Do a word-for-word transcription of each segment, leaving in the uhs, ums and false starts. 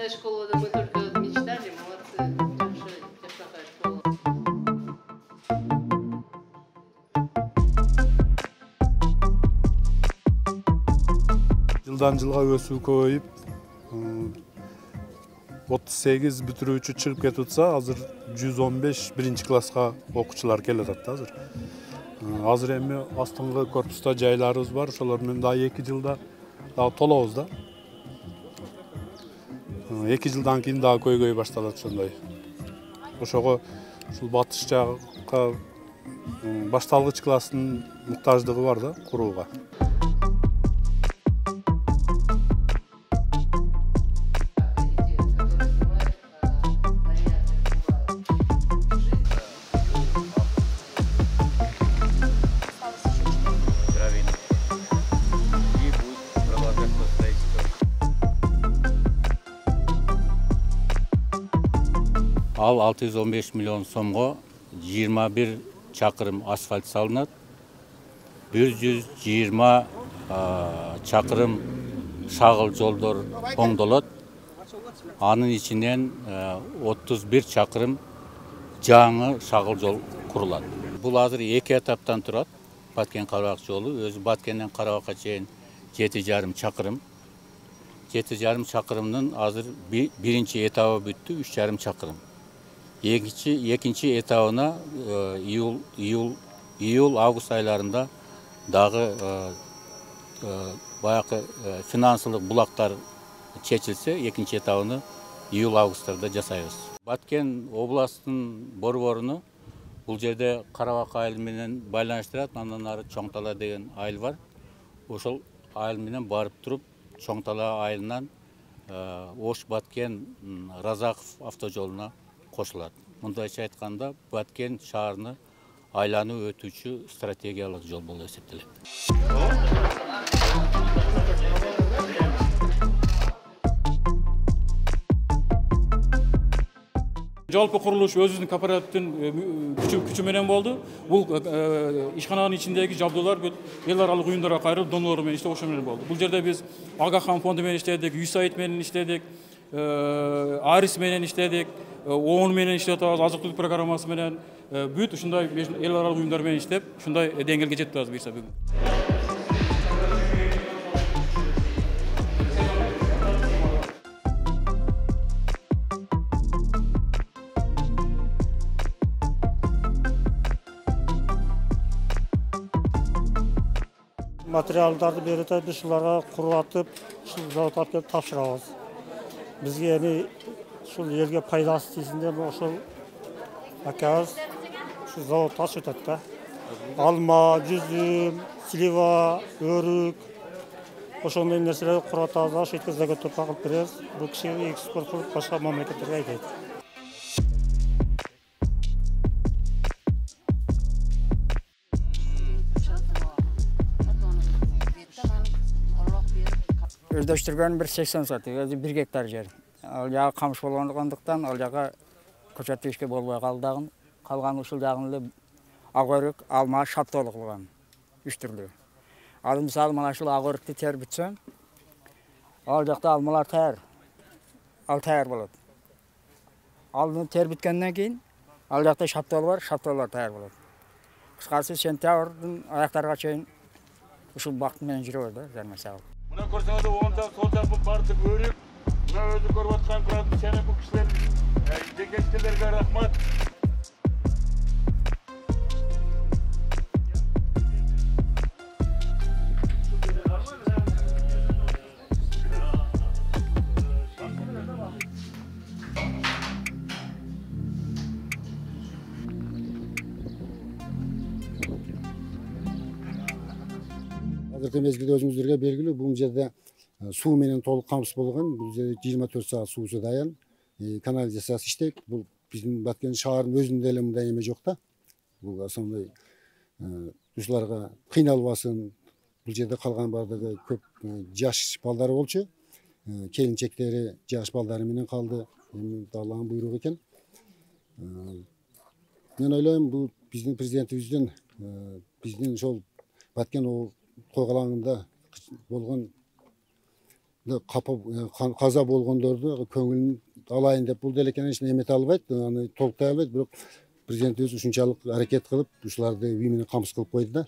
Когда школа, мы только мечтали, молодцы, жакшы жашагай школа. Жылдан жылга өсүү көбөйүп, отуз сегиз бүтүрүүчү чыгып кетип атса, азыр жүз он беш биринчи класска окуучулар келип атат да азыр. Азыр эми астыңкы корпуста жайларыбыз бар, ошолор менен дагы эки жылда дагы толобуз да. эки жылдан кийин дагы көйгөй башталат ошондой. Ошого ушул батыш жакка башталгыч класстын муктаждыгы бар да курууга. Ал алты жүз он беш миллион сомго жыйырма бир чакырым асфальт салынат, бир жүз жыйырма чакырым шагыл жолдор оңдолот, анын ичинен отуз бир чакырым жаңы шагыл жол курулат. Бул азыр эки этаптан турат. Баткен-Карабак жолу өзү Баткенден Карабакка чейин жети жарым чакырым. жети жарым чакырымдын азыр биринчи этабы бүттү, үч жарым чакырым. Экинчи экинчи этабына июл июл июл август айларында дагы баягы финансылык булактар чечилсе, экинчи этабыны июл августтарда жасайбыз. Баткен областынын борборуну бул жерде Карабак айыл менен байланыштырат, андан ары Чоң Тала деген айыл бар. Ошол айыл менен барып туруп Чоң Тала айылынан Ош Баткен Разаков автожолуна кошулат. Мындайча айтканда, Баткен шаарыны айланып өтүүчү стратегиялык жол болуп эсептелет. Жалпы курулуш өзүнүн кооперативдин күчү менен болду. Бул ишкананын ичиндеги жабдуулар эл аралык уюмдарга кайрылып, донорлор менен иштеп ошо менен болду. Бул жерде биз Агахан фонду менен иштедик, ЮСАИД менен иштедик, Арис менен иштедик, ООН менен иштеп атабыз, азык-түлүк программасы менен бүт ушундай эл аралык уюмдар менен иштеп, ушундай деңгээлге жетип атабыз буюрса бүгүн. Материалдарды берип атат, биз ушуларга курулатып, ушул заводко алып келип тапшырабыз. Бизге эми ушул элге пайдасы тийсин деп ошол акабыз ушул заводду ачып атат да. Алма, жүзүм, слива, өрүк ошондой нерселерди курутабыз да, ошентип заготовка кылып беребиз. Бул киши экспорт кылып башка мамлекеттерге айдайт. Өздөштүргөн бир сексен соток, өзү бир гектар жер. Ал жагы камыш болгондуктан ал жага көчөтүшкө болбой калды. Калган ушул жагын эле ак өрүк, алма, шаптолук кылган. Үч түрлүү. Ал мисалы мына ушул ак өрүктү терип бүтсөң, ал жакта алмалар таяр. Ал таяр болот. Алды терип бүткөндөн кийин ал жакта шаптол бар, шаптолор таяр болот. Кыскасы сентябрдын аяктарга чейин ушул бакыт менен жүрөбүз да, жармасак. Мына көрсөңүз оң жак, сол жак бардык өрүк. Мына өзү көрүп аткан кыратын сени бул кишилер, жекечкелерге рахмат. Азыркы мезгилде өзүңүздөргө белгилүү, бул жерде суу менен толук камсыз болгон. Бул жерде жыйырма төрт саат суусу даян. Канализациясы иштейт. Бул биздин Баткен шаарынын өзүндө эле мындай эме жок да. Бул ошондой ушуларга кыйналбасын. Бул жерде калган бардыгы көп жаш балдары болчу. Келинчектери жаш балдары менен калды. Эми Алланын буйругу экен. Мен ойлойм, бул биздин президентибиздин биздин ошол Баткен койгулаңында болгон каза болгондорду көңүлүн алайын деп бул деле эч эмете албайт, аны толуктай албайт, бирок президентибиз ушунчалык аракет кылып, ушуларды үй менен камсыз кылып койду да.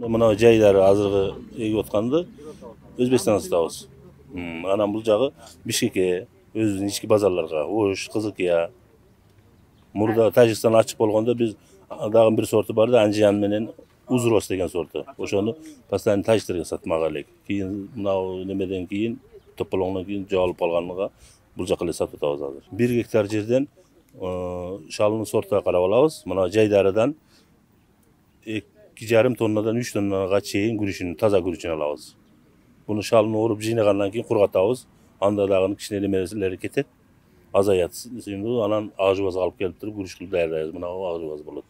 Мына жайлары азыркы эгип атканды Өзбекстандан сатабыз. Анан бул жагы Бишкекке, өзүбүздүн ички базарларга, Ош, Кызылкия. Мурда Тажикстан ачык болгондо биз дагы бир сорту бар да, Анжиян менен Узрос деген сорту. Ошону постоянно тажиктерге сатмак элек. Кийин мынау немеден кийин, тополоңдон кийин жоголуп калганга бул жака эле сатып атабыз азыр. бир гектар жерден шалынын сортуна карап алабыз. Мына жайдарыдан эки жарым тоннадан үч тоннага чейин күрүчүн, таза күрүчүн алабыз. Буну шалын оруп жыйнагандан кийин кургатабыз. Анда дагы кичине немелери кетет, азаят. Анан ак жубазга алып келип туруп күрүчтү даярдайбыз. Мына ак жубаз болот.